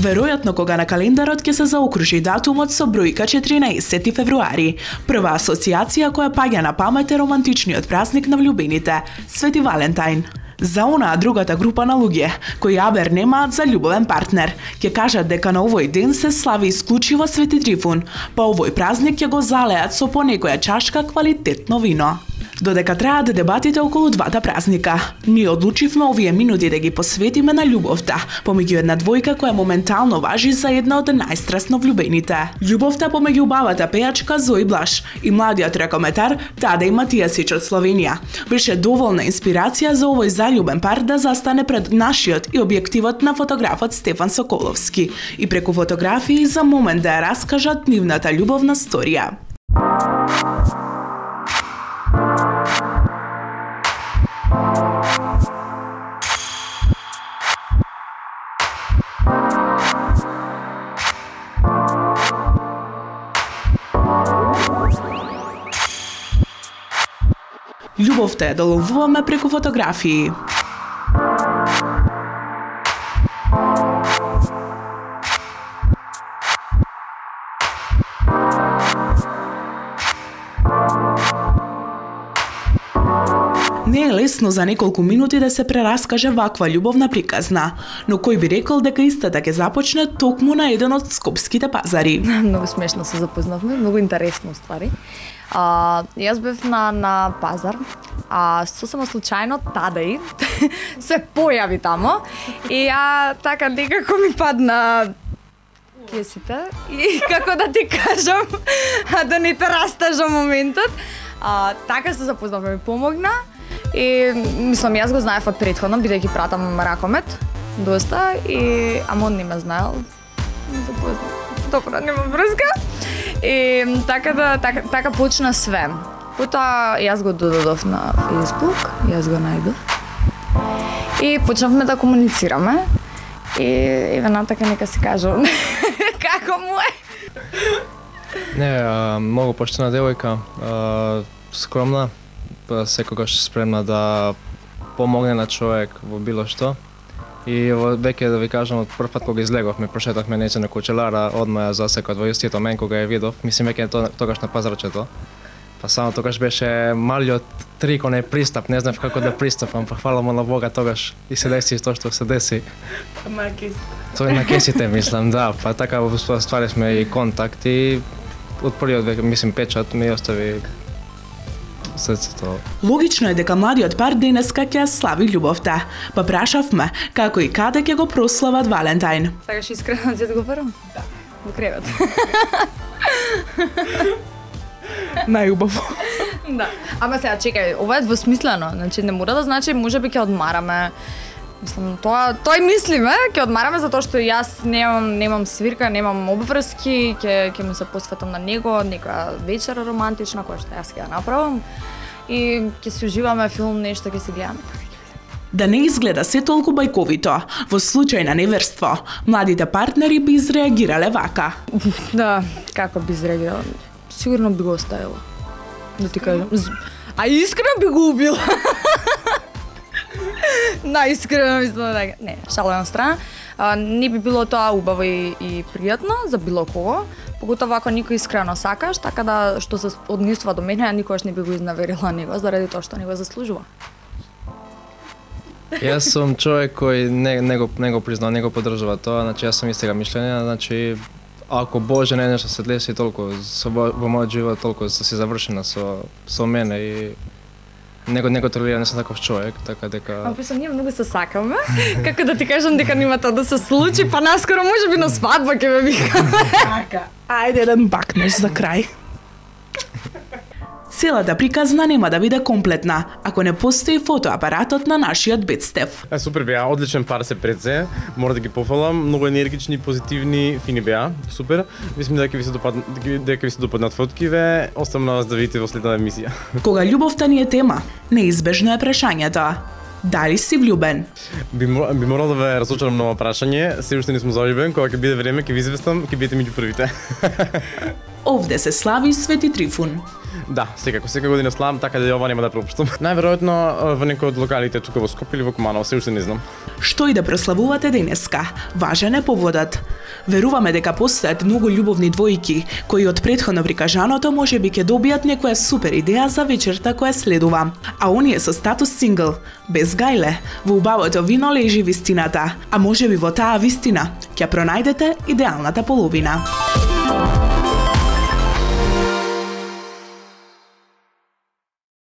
Веројатно кога на календарот ќе се заокружи датумот со бројка 14 февруари, прва асоциација која паѓа на памет е романтичниот празник на влюбените, Свети Валентајн. За онаа другата група на луѓе, кои абер немаат за љубовен партнер, ќе кажат дека на овој ден се слави исклучиво Свети Трифун, па овој празник ќе го залеат со по некоја чашка квалитетно вино. Додека траат дебатите околу двата празника, ние одлучивме овие минути да ги посветиме на љубовта помеѓу една двојка која моментално важи за една од најстрасно влюбените. Љубовта помеѓу убавата пејачка Зои Блаш и младиот ракометар Тадеј Матијасич од Словенија беше доволна инспирација за овој заљубен пар да застане пред нашиот и објективот на фотографот Стефан Соколовски и преку фотографии за момент да ја раскажат нивната љубовна сторија. Љубовта ја доловуваме преку фотографии. Не е лесно за неколку минути да се прераскаже ваква љубовна приказна, но кој би рекол дека истата ќе започне токму на еден од скопските пазари. Многу смешно се запознавме, многу интересно ствари. Јас бев на пазар, сосема случајно Тадеј се појави тамо и така некако ми падна кесите и како да ти кажам, да не те растажам моментот. Така се запознавме, ми помогна и мислам јас го знаев од претходно, бидејќи пратам ракомет доста и ама он не ме знаел. Не запознав. Добро, нема врска. И така почна све. Потоа јас го додадов на Facebook, јас го најдов. И почнавме да комуницираме. И еве така нека се кажам како му е. Не, многу поштена девојка, скромна, секогаш спремна да помогне на човек во било што. И веќе да ви кажам, од прв пат кога излеговме, прошетавме неќе на Кучелара, одма ја засекот во истиот момент кога ја видов. Мислим веќе тогаш на пазарчето. Па само тогаш беше малиот трик, онај пристап, не знав како да пристапам, па фала му на Бога тогаш и се деси тоа што се деси. На кесите. Тоа на кесите мислам, да, па така стварисме и контакт и од првиот веќе мислим печат ми остави срцето. Логично е дека младиот пар денеска ќе слави љубовта, па прашавме како и каде ќе го прослават Валентајн. Сакаш искрено да го барам? Да. Во кревет. Најубаво. Да. Ама сега чекај, ова е двосмислено, значи не мора да значи можеби ќе одмараме. Мислам, тој мислиме, ќе одмараме затоа што јас немам свирка, немам обврски, ќе му се посветам на него, некоја вечера романтична која што јас ќе ја направам и ќе се уживаме филм, нешто ќе се гледаме. Да не изгледа се толку бајковито, во случај на неверство, младите партнери би изреагирале вака. Да, како би изреагирала? Сигурно би го оставила. Да ти кажам. А искрено би го убила. Најискрено мислам дека. Не, шала на страна. Не би било тоа убаво и пријатно за било кого. Поготово ако никој искрено сакаш, така да што се однесува до мене, никогаш не би го изнаверила него заради тоа што не го заслужува. Јас сум човек кој не го признава, не го поддржува тоа, значи јас сум истега мишлење, значи ако Боже не нешто се деси толку во мојот живот, толку се завршена со мене и него толерира, не сум таков човек, така дека... А присам, ние многу се сакаме, како да ти кажам дека нема тоа да се случи, па наскоро можеби на свадба ќе ме викаме. Така, ајде еден бакнеш за крај. Целата приказна нема да биде комплетна, ако не постои фотоапаратот на нашиот Бетстеф. Супер беа, одличен пар се предзе, мора да ги пофалам, многу енергични, позитивни, фини беа, супер. Мислам дека ви се допаднат фоткиве, оставам на вас да видите во следната емисија. Кога љубовта ни е тема, неизбежно е прашањето. Дали си влюбен? Би морал да ве разочарам на ова прашање, се уште не сум заљубен, кога ќе биде време, ќе ви известам, ќе бидете меѓу првите. Овде се слави Свети Трифун. Да, секако година славам, така да ова нема да пропуштам. Најверојатно во некој од локалите тука во Скопје или во Куманово, се уште не знам. Што и да прославувате денеска, важен е поводот. Веруваме дека постојат многу љубовни двојки кои од претходно прикажаното можеби ќе добијат некоја супер идеја за вечерта која следува. А оние со статус сингл, без гајле, во убавото вино лежи вистината, а можеби во таа вистина ќе пронајдете идеалната половина.